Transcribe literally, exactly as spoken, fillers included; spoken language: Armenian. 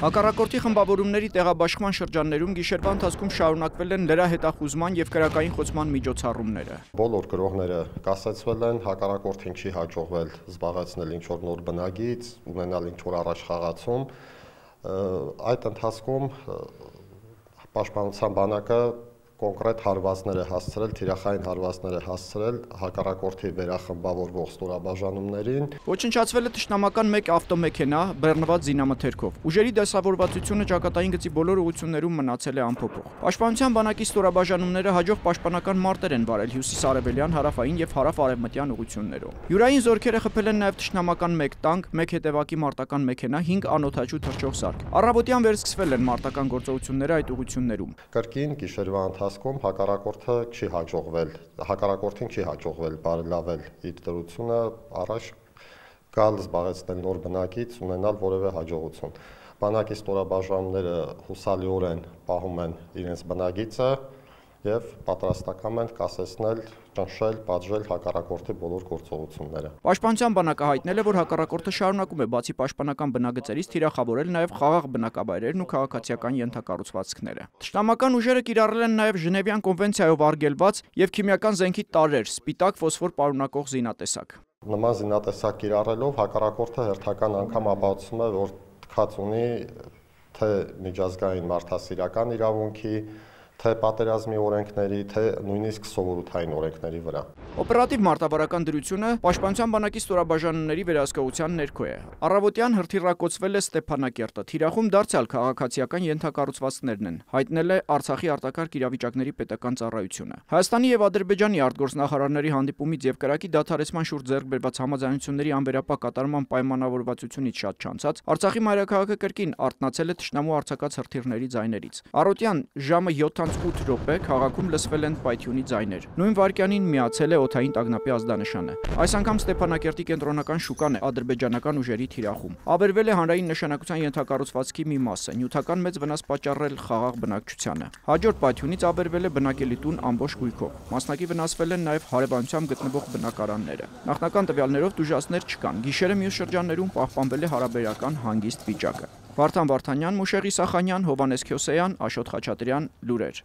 Հակառակորդի խմբավորումների տեղաբաշխման շրջաններում գիշերվա ընթացքում շարունակվել են լրա հետախուզման և քրեակային խոցման միջոցառումները։ Բոլոր գրողները կասեցվել են, հակառակորդին չի հաջողվել զբաղեցնել ինչ-որ նոր բնագիծ, ունենալ ինչ-որ առաջխաղացում։ Այդ ընթացքում Պաշտպանության բանակը կոնկրետ հարվածներ է հասցրել, թիրախային հարվածներ է հասցրել հակառակորդի վերախմբավորվող ստորաբաժանումներին։ Ոչնչացվել է թշնամական մեկ ավտոմեքենա բեռնված զինամթերքով։ Ուժերի դասավորվածությունը ճակատային գծի բոլոր ուղղություններում մնացել է անփոփոխ։ Պաշտպանության բանակի ստորաբաժանումները հաջող պաշտպանական մարտեր են վարել հյուսիսարևելյան, հարավային և հարավ-արևմտյան ուղղություններում։ Յուրային զորքերը խփել են նաև թշնամական մեկ տանկ, մեկ հետևակի մարտական մեքենա, հինգ անօդաչու թռչող սարք։ Առավոտյան վերսկսվել են մարտական գործողությունները այդ ուղղություններում։ Կրկին գիշերվա ընթացքում հակառակորդը չի հաջողվել, հակառակորդին չի հաջողվել բարելավել իր դրությունը, առաջ գալ զբաղեցնել նոր բնակից, ունենալ որևէ հաջողություն։ Բանակի ստորաբաժանումները հուսալիորեն պահում են իրենց բնագիծը և պատրաստակամ են կասեցնել, ճնշել, պատժել հակառակորդի բոլոր գործողությունները։ Պաշտպանության բանակը հայտնել է, որ հակառակորդը շարունակում է բացի պաշտպանական բնագծերից թիրախավորել նաև խաղաղ բնակավայրերն ու քաղաքացիական ենթակառուցվածքները։ Թշնամական ուժերը կիրառել են նաև Ժնևյան կոնվենցիայով արգելված և քիմիական զենքի տարրեր, սպիտակ ֆոսֆոր պարունակող զինատեսակ։ Նման զինատեսակ կիրառելով հակառակորդը հերթական անգամ ապացուցում է, որ թքած ունի թե միջազգային մարդասիրական իրավունքի, թե պատերազմի օրենքների, թե նույնիսկ սովորութային օրենքների վրա։ Օպերատիվ մարտավարական դրությունը Պաշտպանության բանակի ստորաբաժանումների վերահսկողության ներքո է։ Առավոտյան հրթիռակոծվել է Ստեփանակերտը, թիրախում դարձյալ քաղաքացիական ենթակառուցվածքներն են, հայտնել է Արցախի արտակարգ իրավիճակների պետական ծառայությունը։ Հայաստանի և Ադրբեջանի արտգործնախարարների հանդիպումից և կրակի դադարեցման շուրջ ձեռք բերված համաձայնությունների անվերապահ կատարման պայմանավորվածությունից շատ չանցած Արցախի մայրաքաղաքը կրկին արթնացել է թշնամու արձակած հրթիռների ձայներից։ Առօրյան ժամը յոթ ութ րոպե քաղաքում լսվել են պայթյունի ձայներ։ Նույն վայրկյանին միացել է օդային տագնապի ազդանշանը։ Այս անգամ Ստեփանակերտի կենտրոնական շուկան է ադրբեջանական ուժերի թիրախում։ Ավերվել է հանրային նշանակության ենթակառուցվածքի մի մասը, նյութական մեծ վնաս պատճառել խաղաղ բնակչությանը։ Հաջորդ պայթյունից ավերվել է բնակելի տուն ամբողջ գույքով։ Մասնակի վնասվել են նաև հարևանությամբ գտնվող բնակարանները։ Նախնական տվյալներով տուժածներ չկան։ Գիշերը մյուս շրջաններում պահպանվել է հարաբերական հանգիստ վիճակը։ Վարդան Վարդանյան, Մուշեղ Իսախանյան, Հովհաննես Քյոսեյան, Աշոտ Խաչատրյան, լուրեր։